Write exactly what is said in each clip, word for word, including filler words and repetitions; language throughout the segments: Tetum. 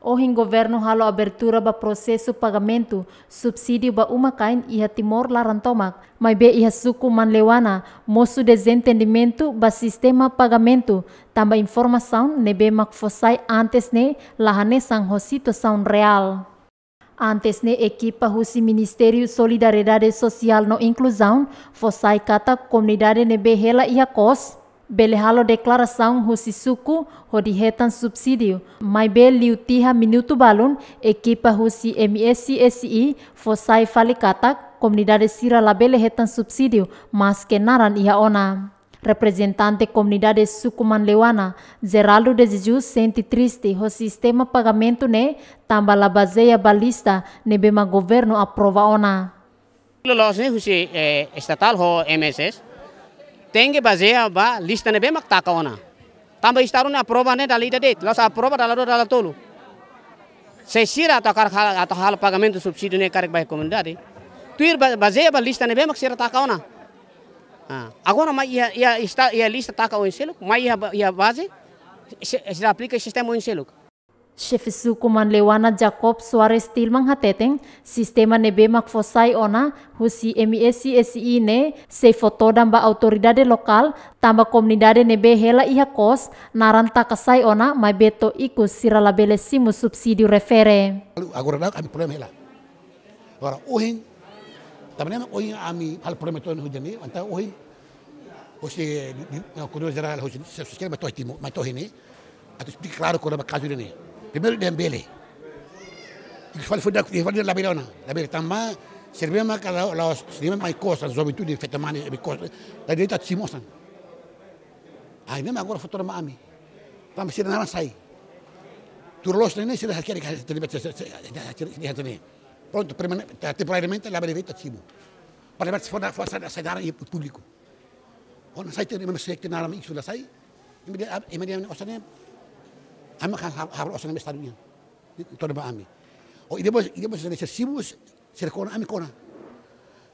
Ohin governu halo abertura ba prosesu pagamentu subsídiu ba uma-kain iha Timor laran tomak, maibé iha suku Manleuana mosu dezentendimentu ba sistema pagamentu, tanba informasaun ne'ebé mak fó sai antes ne'e la hanesan ho situasaun reál. Antes ne'e ekipa husi Ministériu Solidariedade Sosiál no Inkluzaun fó sai katak komunidade ne'ebé hela iha kos bele halo deklarasaun husi suku hodi hetan subsídiu, maibé liu tiha minutu balun, ekipa husi M S S I fó sai fali katak komunidade sira labele hetan subsídiu, maske naran iha ona. Reprezentante komunidade suku Manleuana, Geraldo de Jesus, sente triste ho sistema pagamentu ne'e, tanba la bazeia ba lista ne'ebé mak governu aprova ona. Loloos ne'e husi, eh, estatál ho M S S, tenke bazeia ba lista ne'ebé mak taka ona. Tanba estadu ne'e aprova ne'e dala ida de'it, la'ós aprova dala rua, dala tolu. Se sira atu hakarak hal-, atu halo pagamentu subsídiu ne'e karik ba komunidade, tuir ba-, bazeia ba lista ne'ebé mak sira taka ona. Ah, agora mai iha, iha esta-, iha lista taka oin seluk, mai iha ba-, iha baze, se, sira aplika sistema oin seluk. Xefe suku Manleuana Jacob Soares Tilman hateten, sistema ne'ebé mak fó sai ona husi M S S I ne'e sei fó todan ba autoridade lokál, tanba komunidade ne'ebé hela iha kos, naran taka sai ona, maibé to'o ikus sira labele simu subsídiu refere. Agora daudaun ami problema hela. Agora ohin, tanba ne'e mak ohin ami halo problema to'o ohin ne'e, entaun ohin, husi, di, di, no, Koordenadór Jerál, husi, se, se, se, mai to'o Timor, mai to'o ohin ne'e, atu esplika klaru kona-ba kazu ne'e. Primeiru dehan bele. Ikus fali fó dehan, fó dehan labele ona, labele tanba, sira ne'ebé mak la, la, sira ne'ebé mak mai kos, juventude, feto-mane, mai kos, la direitu atu simu osan. Ai, ne'e mak agora fó todan ba ami. Tanba sira naran sai. Tuir loos ne'e, sira hakerek, sira, sira, sira, sira, sira, sira, sira, sira, sira, Prontu, permane-, te-, temporariamente labele de'it atu simu. Para depois fó na, fó sai, sai naran iha públiku. Ona sai te, meme se te naran iha suku la sai. Imi dehan, imi dehan osan ne'e. Ami kan ha-, halo osan ne'e estadu nian. Todan ba ami. O, i depois, i depois se simu, se kona, ami kona.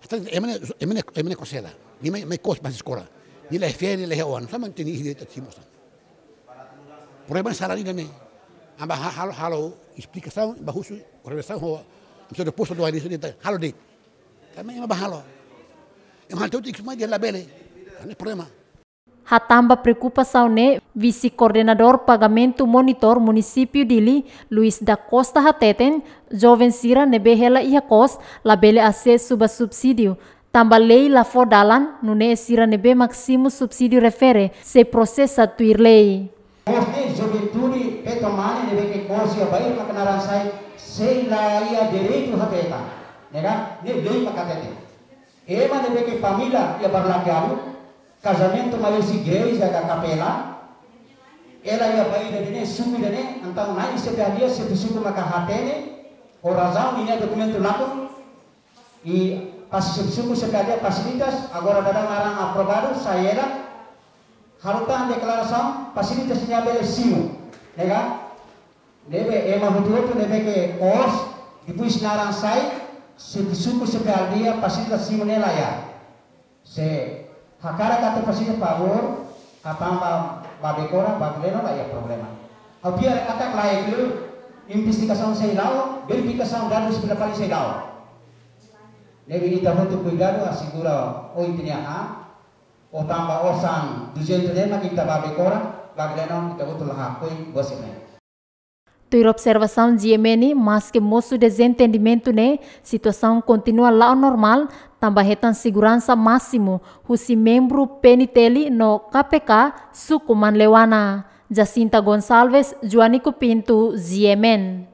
Hasta ema ne'e, ema ne'e, ema ne'e kos hela. Nia mai, mai kos ba eskola. Nia la iha feen, nia la iha oan. Sama teni ide atu simu osan. Problema sala ida-ne'e. Ami ba ha-, halo, halo esplikasaun, ba husu, organizasaun ho, ami só depois do ali, halo de'it. Tanba ema ba halo. Ema halo tuir ikus mai dehan labele. Ne'e problema. Hatán ba preokupasaun ne'e, Vise-Koordenadór Pagamentu Monitór Munisípiu Dili, Luis da Costa hateten, joven sira ne'ebé hela iha kos, labele asesu ba subsídiu, tanba lei la fó dalan, nune'e sira ne'ebé mak simu subsídiu refere sei prosesa tuir lei. Kos ne'e juventude, feto-mane ne'ebé ke kos iha bairru mak naran sai, sei la iha direitu hateten. Ne'e ka? Ne'e lei mak hateten. Ema ne'ebé ke família iha Barlakearu, kazamentu mai husi igreja ka kapela, hela iha bairru ida-ne'e, suku ida-ne'e, entaun na'in-sepuluh dia, xefe suku maka hatene, ho razaun ninia dokumentu lakon, i pas xefe suku sei kadeia fasilitas, agora daudaun naran aprovadu, sai hela, halo tan deklarasaun, fasilitas ne'e labele simu, ne'e ka? Ne'ebé ema hotu-hotu ne'ebé ke kos, depois naran sai, xefe suku, xefe aldeia, fasilitas simu ne'e la iha. Se hakarak atu fasilitas favór, hatán ba Bekora, ba Gleno la iha problema. Ha'u fiar katak la iha kleur, investigasaun sei la'o, verifikasaun dadus fila fali sei la'o. Ne'ebé ita hotu kuidadu, asegura oin tinia ha, o tanba osan duzentus ne'e mak ita ba Bekora, ba Gleno ita hotu la hakoi, bosi ne'e. Tuir observasaun G M N, maske mosu dezentendimentu ne'e, situasaun kontinua la'o normál, tanba hetan seguransa másimu husi membru P N T L no K P K suku Manleuana. Jacinta Gonçalves, Joanico Pinto, G M N.